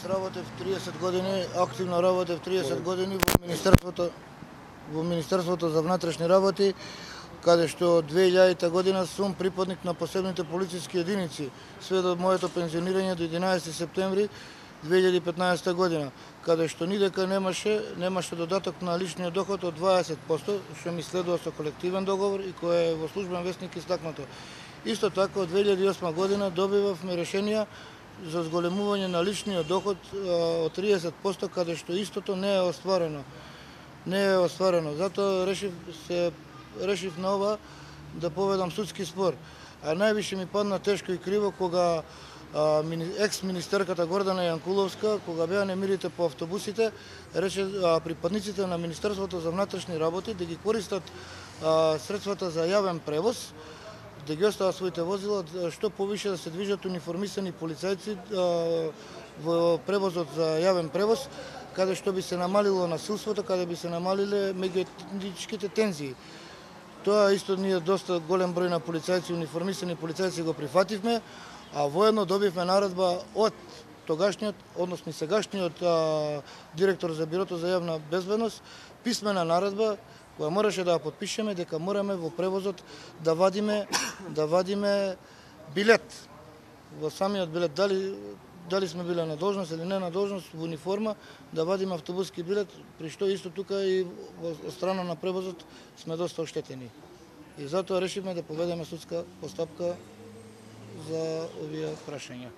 работев 30 години, активно работев 30 години во Министерството за внатрешни работи, каде што од 2000 година сум припадник на посебните полициски единици, све до моето пензионирање до 11 септември 2015 година, каде што нидека немаше додаток на личниот доход од 20%, што ми следува со колективен договор и кој е во службен весник истакнато. Исто така од 2008 година добивавме решенија за зголемување на личниот доход од 30%, каде што истото не е остварено. Затоа решив на ова да поведам судски спор. А највише ми падна тешко и криво кога екс-министерката Гордана Јанкуловска, кога беа немирите по автобусите, рече припадниците на Министерството за внатрешни работи да ги користат средствата за јавен превоз, да ги остават своите возила, што повише да се движат униформисани полицајци во превозот за јавен превоз, каде што би се намалило насилството, каде би се намалиле меѓуетничките тензии. Тоа исто ние доста голем број на полицајци, униформисани полицајци го прифативме, а воедно добивме наредба од тогашниот, односно сегашниот директор за Бирото за јавна безбедност, писмена наредба која мораше да ја потпишеме дека мораме во превозот да вадиме билет. Во самиот билет, дали сме биле на должност или не на должност, во униформа, да вадиме автобуски билет, при што исто тука и од страна на превозот сме доста оштетени. И затоа решивме да поведеме судска постапка за овие прашања.